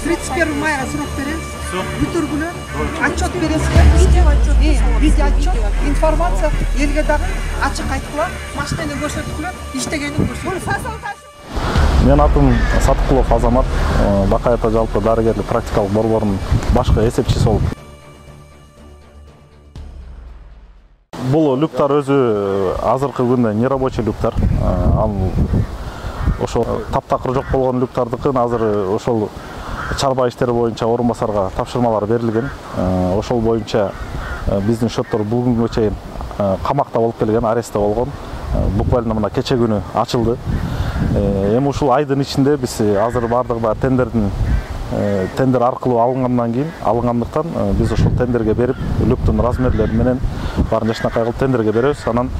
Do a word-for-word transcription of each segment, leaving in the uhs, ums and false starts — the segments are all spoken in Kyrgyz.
тридцать первого мая срок беребиз. Бүтүргүлө отчет бересиздер. Видео отчет, информация элге дагы ачык айткыла, машинени көрсөткүлө, иштегенин көрсөткүлө. Мен атым Саткулов Азамат, Бакай ата жалпы дарыгерлик практикалык борборунун башкы эсепчиси болуп. Бул люктар өзү азыркы күндө нерабочий люктар. Ал ошол таптакыр жок болгон люктардыкын азыр ошол чарба иштери боюнча орун басарга тапшырмалар берилген. Ошол боюнча биздин шоттор бул күнгө чейин камакта болуп келген, арестте болгон. Буквально мына кече күнү ачылды. Эми ушул айдын ичинде биз азыр бардыгы тендердин тендер аркылуу алынгандан кийин алынгандыктан биз ошол тендерге берип, люктун размерлери менен баарын жакшынакай кылып тендерге беребиз. Анан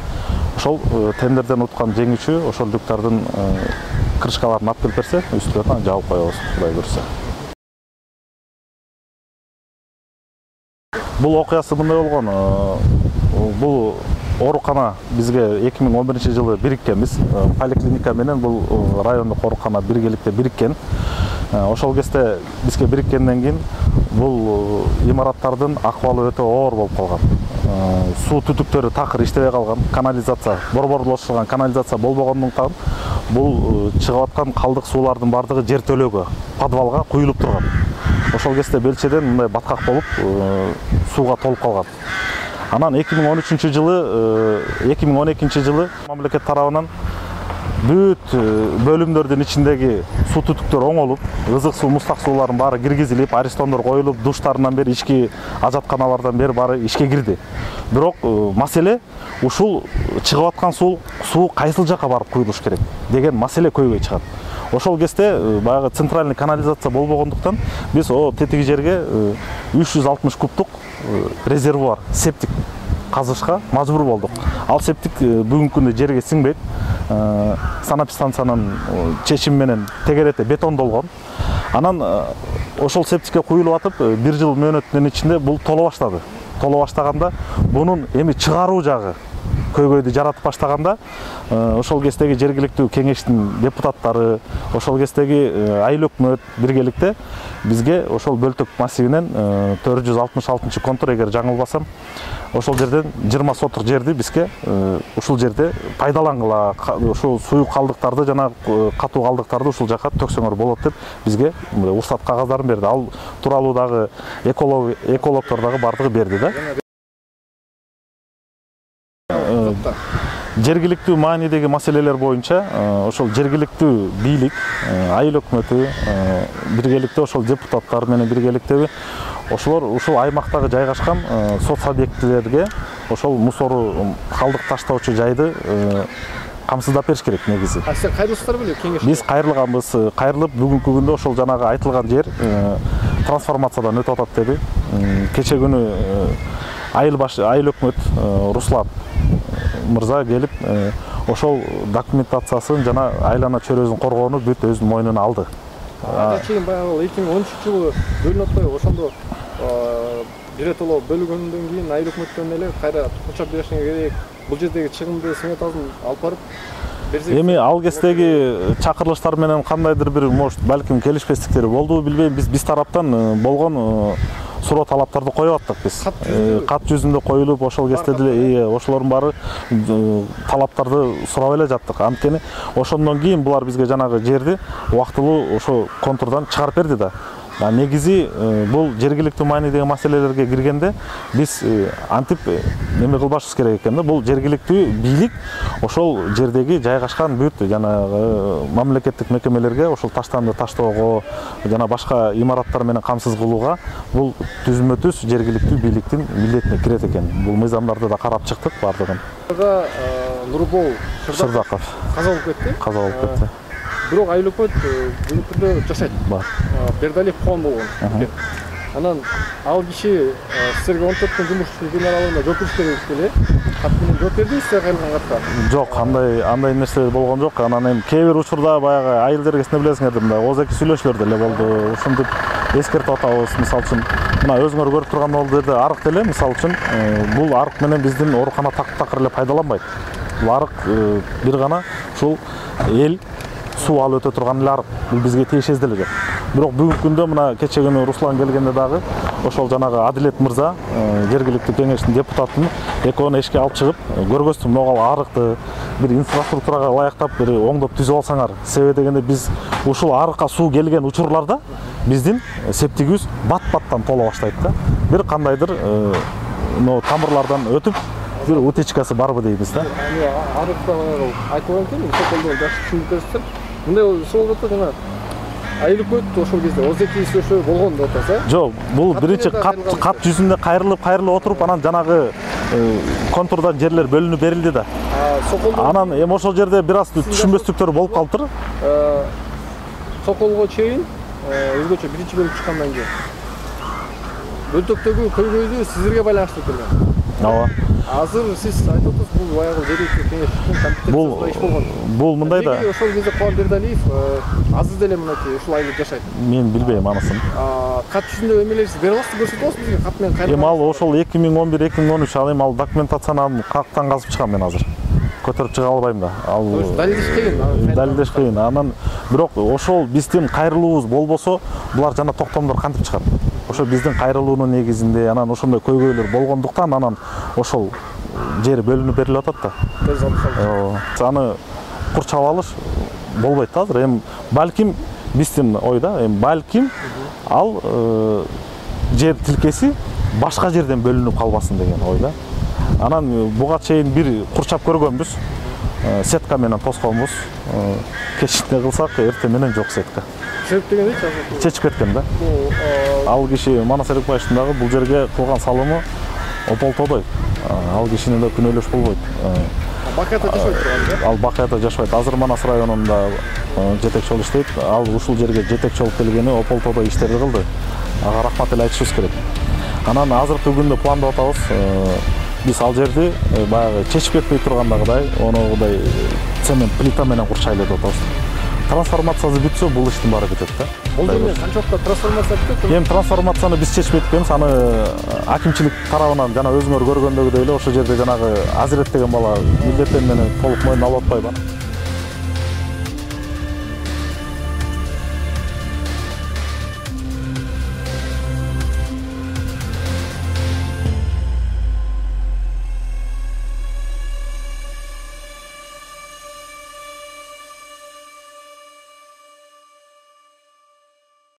ошол тендерден уткан жеңүүчү ошол люктардын крышкаларын алып келип берсе, үстүнө жабып коебуз, Кудай буйрса. Бул окуясы мындай болгон. Бул оорукана бизге эки миң он биринчи жылы бириккенбиз. Поликлиника менен бул райондук оорукана биргеликте бириккен. Ошол кезде бизге бириккенден кийин бул имараттардын акыбалы өтө оор болуп калган. Суу түтүктөрү такыр иштебей калган, канализация, борборлошулган канализация болбогондуктан бул чыгып аткан калдык суулардын бардыгы жер төлөөгө, подвалга куюлуп турган. Ошол кезде белчеден мындай баткак болуп сууга толуп калган. Анан эки миң он үчүнчү жылы, эки миң он экинчи жылы мамлекет тарабынан бүт бөлүмдөрдүн ичиндеги суу түтүктөр оңолуп, ызык суу, мустак суулардын баары киргизилип, арестондор коюлуп, душтарынан бери, ички ажатканалардан бери баары ишке кирди. Бирок маселе ушул чыгып аткан суу суу кайсыл жака барып куюлуш керек деген маселе көйгөй чыгат. Ошол кезде баягы центральный канализация болбогондуктан биз о тетиги жерге үч жүз алтымыш кубтук резервуар, септик казышка мажбур болдук. Ал септик бүгүнкү күндө жерге сиңбейт. Санэпидстанциянын чечими менен тегерете бетондолгон. Анан ошол септикке куюлуп атып, бир жыл мөөнөттүн ичинде бул толо баштады. Толо баштаганда бунун эми чыгаруу жагы көйгөйдү жаратып баштаганда, ошол кездеги жергиликтүү кеңештин депутаттары, ошол кездеги айыл өкмөт биргеликте бизге ошол Бөлтөк массивинен төрт жүз алтымыш алтынчы контур, эгер жаңылбасам, ошол жерден жыйырма сотук жерди бизге ушул жерде пайдалангыла, ошол суюк калдыктарды жана катуу калдыктарды ушул жака төксөңөр болот деп бизге уруксат кагаздарын берди. Ал тууралуу дагы экологдор дагы бардыгы берди да. Жергиликтүү маанидеги маселелер боюнча ошол жергиликтүү бийлик, айыл өкмөтү биргеликте ошол депутаттар менен биргеликтеби ошолор ушул аймактагы жайгашкан соц объектилерге ошол мусору, калдык таштоочу жайды камсыздап бериш керек негизи. А сиз кайрылсыздар беле кеңеш? Биз кайрылганбыз. Кайрылып бүгүнкү күндө ошол жанагы айтылган жер трансформациядан өтүп атат деди. Кече күнү айыл баш айыл өкмөт Руслан мырза келип ошол документациясын жана айлана чөйрөсүн коргоону бүт өзүнүн мойнуна алды. Ага чейин баягы эки миң он үчүнчү жылы бөлүнүп атпайбы? Ошондо биротоло бөлгөндөн кийин айыл өкмөттөн эле кайра курчап беришиңер керек. Бул жердеги чыгымды сметасын алып барып берсек. Эми ал кездеги чакырылыштар менен кандайдыр бир может балким келишпестиктер болду, билбейм. Биз биз тараптан болгон суроо талаптарды коюп аттык биз. Кат жүзүндө коюлуп, ошол кезде деле ошолордун баары талаптарды сурап эле жаттык. Анткени ошондон кийин булар бизге жанагы жерди убактылуу ошо контурдан чыгарып берди да. Негизи бул жергиликтүү маанидеги маселелерге киргенде биз антип неме кылбашыбыз керек экен да. Бул жергиликтүү бийлик ошол жердеги жайгашкан бүт жанагы мамлекеттик мекемелерге ошол таштанды таштоого жана башка имараттар менен камсыз кылууга бул түзмө түз жергиликтүү бийликтин милдетине кирет экен. Бул мыйзамдарды да карап чыктык бардыгын. Нурбол Шырдаков каза болуп кетти. Каза болуп кетти. Бирок айыл өкмөт бүгүнкү күндө жашайт. Бар. Бердалиев кон болгон. Анан ал киши силерге он төрт күн жумуш күн аралыгында жооп бериш керек эле. Кат менен жооп бердиңиз силер кайрылган катка? Жок, андай андай нерсе болгон жок. Анан эми кээ бир учурда баягы айыл дергесинде билесиңер, мындай ооз-эки сүйлөшүүлөр деле болду. Ушинтип эскертип атабыз. Мисалы үчүн, мына өзүңөр көрүп турган болду арык деле, мисалы үчүн, бул арык менен биздин оорукана так-такыр эле пайдаланбайт. Бул арык бир гана ушул эл суу алып өтө турган эле арык. Бул бизге тиешеси деле жок. Бирок бүгүнкү күндө мына кече күнү Руслан келгенде дагы ошол жанагы Адилет мырза, жергиликтүү кеңештин депутатын экөөнү эшикке алып чыгып көргөздүм, могул арыкты бир инфраструктурага ылайыктап бир оңдоп түзүп алсаңар. Себеби дегенде биз ушул арыкка суу келген учурларда биздин септигибиз бат-баттан тола баштайт да. Бир кандайдыр но тамырлардан өтүп бир утечкасы барбы дейбиз да. Арыкта айтылган экен, соколдо жакшы түшүнүп берсем, мындай суу болуп атат жана айылып өттү ошол кезде отуз эки сөшө болгон деп атасыз э? Жок, бул биринчи кат кат жүзүндө кайрылып кайрылып отуруп, анан жанагы контурдан жерлер бөлүнүп берилди да. Анан эми ошол жерде бир аз түшүнбөстүктөр болуп калыптыр. Соколго чейин өзгөчө биринчи бөлүп чыккандан кийин Бөлтөктөгү көйгөйдү сиздерге байланыштуу келген. Ооба. Азыр сиз айтып атасыз, бул баягы жергиликтүү кеңештин компетенциясында иш болгон. Бул мындай да. Ошол кезде Кубан Бердалиев азыр деле мынакей ушул айылда жашайт. Мен билбейм анысын. Кат жүзүндө эмелерди бере аласыз, көрсөтө аласыз бизге кат менен кайра. Эми ал ошол эки миң он бир эки миң он үч ал эми ал документацияны каяктан казып чыгам мен азыр. Көтөрүп чыга албайм да. Ал далилдеш кыйын. Далилдеш кыйын. Анан бирок ошол биздин кайрылуубуз болбосо, булар жана токтомдор кантип чыгат? Ошо биздин кайрылуунун негизинде анан ошондой көйгөйлөр болгондуктан анан ошол жери бөлүнүп берилип атат да. Аны курчап алыш болбойт да азыр. Эми балким биздин ойда, эми балким ал жер тилкеси башка жерден бөлүнүп калбасын деген ойда. Анан буга чейин бир курчап көргөнбүз. Сетка менен тосконбуз. Кечинде кылсак эртең менен жок сетка. Чечип дегенде чечип кеткен да. Ал киши Манас Эрикбаевичтин дагы бул жерге кылган салымы ополтодой. Ал кишини да күнөөлөш болбойт. Бакаята жашабайт турган. Ал Бакаята жашабайт. Азыр Манас районунда жетекчи болуп иштейт. Ал ушул жерге жетекчи болуп келгени ополтодой иштерди кылды. Ага рахмат эле айтышыбыз керек. Анан азыркы күндө пландап атабыз. Биз ал жерди баягы чечип кетпей тургандагыдай, онудай цемент плита менен курчайлы деп атабыз. Трансформациясы бүтсө, бул иштин баары бүтөт да. Бул жерде канчалыкта трансформация бүтөт? Эми трансформацияны биз чечпей кеткенбиз, аны акимчилик тарабынан жана өзүңөр көргөндөгүдөй эле ошол жерде жанагы Азирет деген бала милдеттери менен толук мойнуна алып атпайбы?